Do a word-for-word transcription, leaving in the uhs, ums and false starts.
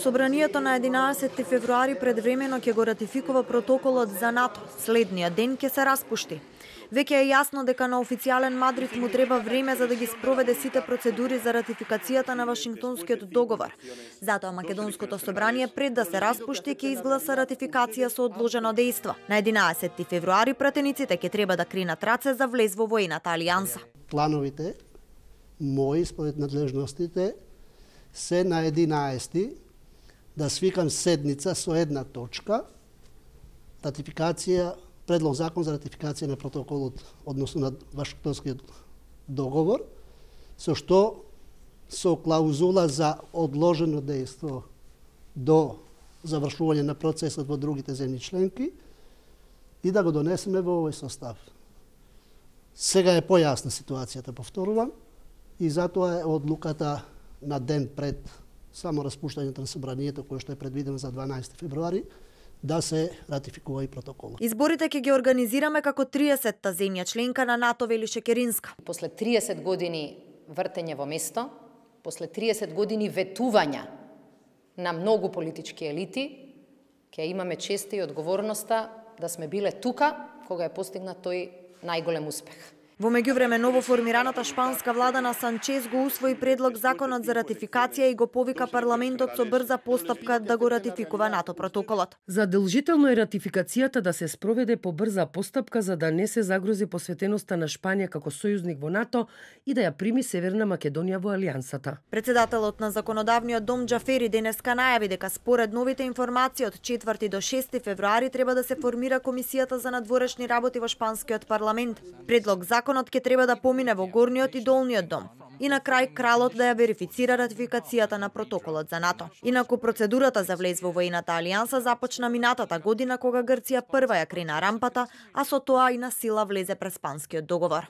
Собранието на единаесетти февруари предвремено ќе го ратификува протоколот за НАТО. Следниот ден ќе се распушти. Веќе е јасно дека на официјален Мадрид му треба време за да ги спроведе сите процедури за ратификацијата на Вашингтонскиот договор. Затоа Македонското собрание пред да се распушти ќе изгласа ратификација со одложено дејство. На единаесетти февруари пратениците ќе треба да кренат раце за влез во воената алијанса. Плановите мои според надлежностите се на единаесети да свикам седница со една точка ратификација, предлог закон за ратификација на протоколот, односно на Вашингтонскиот договор, со што со клаузула за одложено дејство до завршување на процесот во другите земји членки и да го донесеме во овој состав. Сега е појасна ситуацијата, повторувам, и затоа е одлуката на ден пред само распуштањето на собранието, кое што е предвидено за дванаесети февруари, да се ратификува и протоколот. Изборите ќе ги организираме како триесетта земја членка на НАТО, вели Шекеринска. После триесет години вртење во место, после триесет години ветувања на многу политички елити, ќе имаме честа и одговорноста да сме биле тука кога е постигнат тој најголем успех. Во меѓувреме новоформираната шпанска влада на Санчез го усвои предлог законот за ратификација и го повика парламентот со брза постапка да го ратификува НАТО протоколот. Задолжително е ратификацијата да се спроведе по брза постапка за да не се загрози посветеноста на Шпанија како сојузник во НАТО и да ја прими Северна Македонија во алијансата. Председателот на законодавниот дом Џафери денеска најави дека според новите информации од четврти до шести февруари треба да се формира комисијата за надворешни работи во шпанскиот парламент. Предлог закон Законот ќе треба да помине во горниот и долниот дом и на крај кралот да ја верифицира ратификацијата на протоколот за НАТО. Инаку процедурата за влез во воената алијанса започна минатата година кога Грција прва ја крена рампата, а со тоа и на сила влезе през Спанскиот договор.